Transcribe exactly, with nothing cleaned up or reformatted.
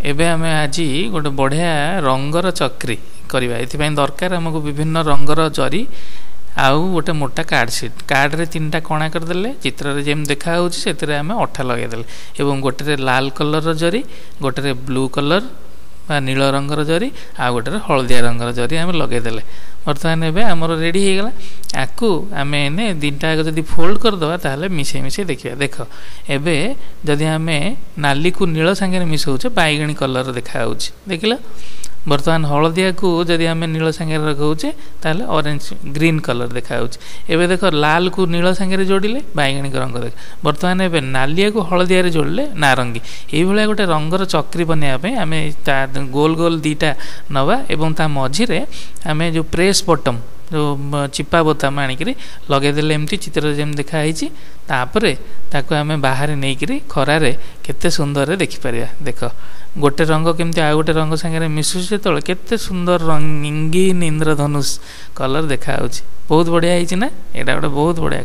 ଏବେ ଆମେ ଆଜି ଗୋଟେ ବଢ଼ିଆ ରଙ୍ଗର ଚକ୍ରି କରିବା। ଏଥିପାଇଁ ଦରକାର ଆମକୁ ବିଭିନ୍ନ ରଙ୍ଗର ଜରି ଆଉ ଗୋଟେ ମୋଟା କାର୍ଡ଼ ସିଟ୍। କାର୍ଡ଼ରେ ତିନିଟା କଣା କରିଦେଲେ, ଚିତ୍ରରେ ଯେମିତି ଦେଖାହେଉଛି, ସେଥିରେ ଆମେ ଅଠା ଲଗାଇଦେଲେ ଏବଂ ଗୋଟେରେ ଲାଲ କଲର୍ର ଜରି, ଗୋଟେରେ ବ୍ଲୁ କଲର୍ ବା ନୀଳ ରଙ୍ଗର ଜରି ଆଉ ଗୋଟେରେ ହଳଦିଆ ରଙ୍ଗର ଜରି ଆମେ ଲଗାଇଦେଲେ। ବର୍ତ୍ତମାନ ଏବେ ଆମର ରେଡ଼ି ହେଇଗଲା। ଆକୁ ଆମେ ଏନେ ତିନିଟା ଯାକ ଯଦି ଫୋଲ୍ଡ କରିଦେବା, ତାହେଲେ ମିଶେଇ ମିଶେଇ ଦେଖିବା। ଦେଖ, ଏବେ ଯଦି ଆମେ ନାଲିକୁ ନୀଳ ସାଙ୍ଗରେ ମିଶାଉଛେ, ବାଇଗଣୀ କଲର୍ ଦେଖାହେଉଛି, ଦେଖିଲ? ବର୍ତ୍ତମାନ ହଳଦିଆକୁ ଯଦି ଆମେ ନୀଳ ସାଙ୍ଗରେ ଲଗାଉଛେ, ତାହେଲେ ଅରେଞ୍ଜ ଗ୍ରୀନ୍ କଲର୍ ଦେଖାହେଉଛି। ଏବେ ଦେଖ, ଲାଲକୁ ନୀଳ ସାଙ୍ଗରେ ଯୋଡ଼ିଲେ ବାଇଗଣୀ ରଙ୍ଗ ଦେଖ। ବର୍ତ୍ତମାନ ଏବେ ନାଲିଆକୁ ହଳଦିଆରେ ଯୋଡ଼ିଲେ ନାରଙ୍ଗୀ। ଏଇଭଳିଆ ଗୋଟେ ରଙ୍ଗର ଚକ୍ରି ବନେଇବା ପାଇଁ ଆମେ ତା ଗୋଲ ଗୋଲ ଦୁଇଟା ନେବା ଏବଂ ତା ମଝିରେ ଆମେ ଯେଉଁ ପ୍ରେସ୍ ବଟମ୍, ଯେଉଁ ଚିପା ବୋତାମ ଆଣିକିରି ଲଗେଇଦେଲେ, ଏମିତି ଚିତ୍ରରେ ଯେମିତି ଦେଖା ହେଇଛି। ତାପରେ ତାକୁ ଆମେ ବାହାରେ ନେଇକିରି ଖରାରେ କେତେ ସୁନ୍ଦରରେ ଦେଖିପାରିବା। ଦେଖ, ଗୋଟେ ରଙ୍ଗ କେମିତି ଆଉ ଗୋଟେ ରଙ୍ଗ ସାଙ୍ଗରେ ମିଶୁଛି ଯେତେବେଳେ, କେତେ ସୁନ୍ଦର ରଙ୍ଗୀନ ଇନ୍ଦ୍ରଧନୁଷ କଲର୍ ଦେଖାହେଉଛି। ବହୁତ ବଢ଼ିଆ ହେଇଛି ନା? ଏଇଟା ଗୋଟେ ବହୁତ ବଢ଼ିଆ।